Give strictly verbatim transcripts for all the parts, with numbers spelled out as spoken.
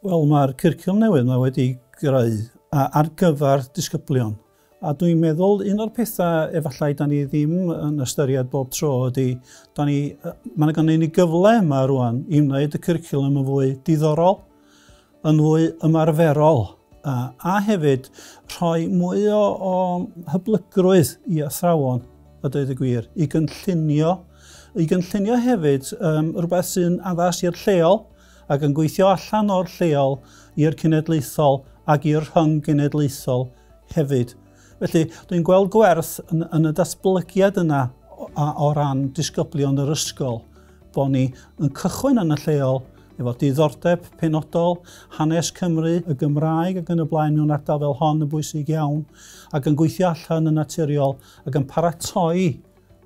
Wel, mae'r cwricwlwm newydd yma wedi greu ar gyfer disgyblion. A dwi'n meddwl un o'r pethau efallai da ni ddim yn ystyried bob tro ydy, da ni, mae yna ni gyfle yma rwan i wneud y cwricwlwm yn fwy diddorol, yn fwy ymarferol, a, a hefyd rhoi mwy o, o hyblygrwydd i athrawon, a dweud y gwir, i gynllunio, i gynllunio hefyd um, rhywbeth sy'n addas i'r lleol ac yn gweithio allan o'r lleol i'r cenedlaethol ac i'r rhyng-genedlaethol hefyd. Felly, dwi'n gweld gwerth yn, yn y datblygiad yna o, o ran disgyblion yr ysgol, bod ni yn cychwyn yn y lleol efo diddordeb penodol, hanes Cymru, y Gymraeg ac yn y blaen mewn ardal fel hon yn bwysig iawn, ac yn gweithio allan yn naturiol ac yn paratoi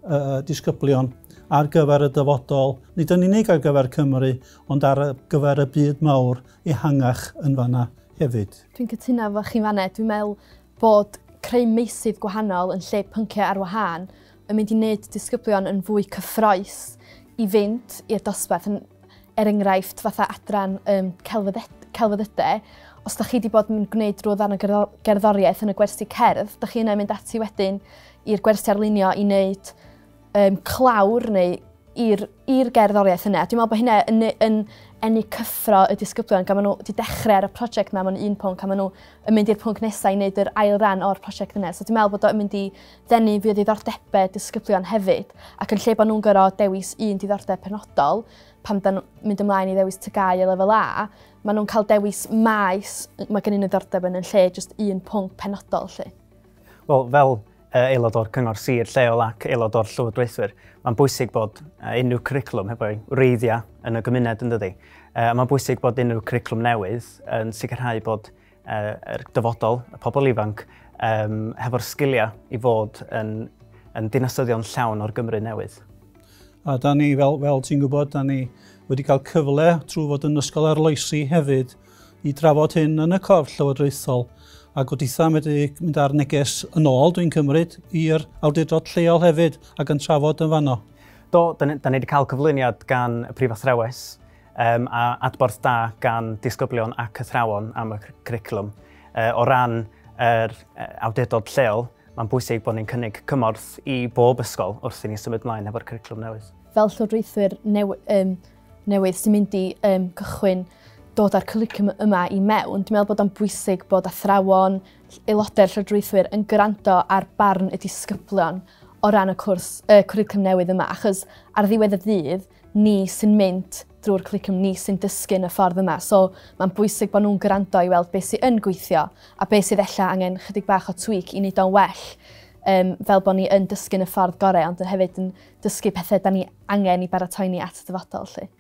uh, disgyblion ar gyfer y dyfodol, nid yn unig ar gyfer Cymru, ond ar gyfer y byd mawr ehangach yn fanna hefyd. Dwi'n cytuno efo chi fanna. Dwi'n meddwl bod creu meysydd gwahanol yn lle pynciau ar wahân yn mynd i wneud disgyblion yn fwy cyffrous i fynd i'r dosbarth. Yn, er enghraifft, fatha adran um, celfyddydau, os da chi wedi bod yn gwneud rhyw ddarn o gerddoriaeth yn y gwersi cerdd, da chi yna mynd ati wedyn i'r gwersi arlunio i wneud um, clawr neu i'r gerddoriaeth yna. Dwi'n meddwl bod hynna yn, yn enni cyffro y disgyblion, gan maen nhw wedi dechrau ar y prosiect yma mewn un pwnc, a maen nhw yn mynd i'r pwnc nesaf i wneud yr ail ran o'r prosiect yna. So dwi'n meddwl bod o'n mynd i ddenu fwy o ddiddordebau disgyblion hefyd, ac yn lle bod nhw'n gorfod dewis un diddordeb penodol, pan dan mynd ymlaen i ddewis T G A U a lefel A, maen nhw'n cael dewis maes mae gen nhw ddiddordeb yn yn lle just un pwnc penodol. Lle. Wel, fel aelod o'r Cyngor Sir lleol ac aelod o'r Llywodraethwyr, mae'n bwysig bod unrhyw cwricwlwm hefo'i wreiddiau yn y gymuned, yn dydi. Mae'n bwysig bod unrhyw cwricwlwm newydd yn sicrhau bod yr dyfodol, y pobl ifanc, hefo'r sgiliau i fod yn, yn dinasyddion llawn o'r Gymru newydd. A da ni, fel, fel ti'n gwybod, da ni wedi cael cyfle trwy fod yn ysgol arloesi hefyd i drafod hyn yn y corff llywodraethol. A gobeithio wedi mynd ar neges yn ôl, dwi'n cymryd, i'r awdurdod lleol hefyd ac yn trafod yn fanno. Do, da ni, da ni wedi cael cyflwyniad gan y Prif Athrawes um, a adborth da gan disgyblion ac athrawon am y cwricwlwm. Uh, o ran yr awdurdod lleol, mae'n bwysig bod ni'n cynnig cymorth i bob ysgol wrth i ni symud ymlaen efo'r cwricwlwm newydd. Fel llywodraethwyr new, um, newydd sy'n mynd i um, cychwyn dod â'r cwricwlwm yma i mewn, dwi'n meddwl bod o'n bwysig bod athrawon, aelodau'r llywodraethwyr yn gwrando ar barn y disgyblion o ran y cwrs, y cwricwlwm newydd yma, achos ar ddiwedd y dydd, ni sy'n mynd drwy'r cwricwlwm, ni sy'n dysgu yn y ffordd yma. So mae'n bwysig bod nhw'n gwrando i weld beth sydd yn gweithio a beth sydd ella angen chydig bach o tweak i wneud o'n well, um, fel bod ni yn dysgu yn y ffordd gorau, ond hefyd yn dysgu pethau da ni angen i baratoi ni at y dyfodol. Lly.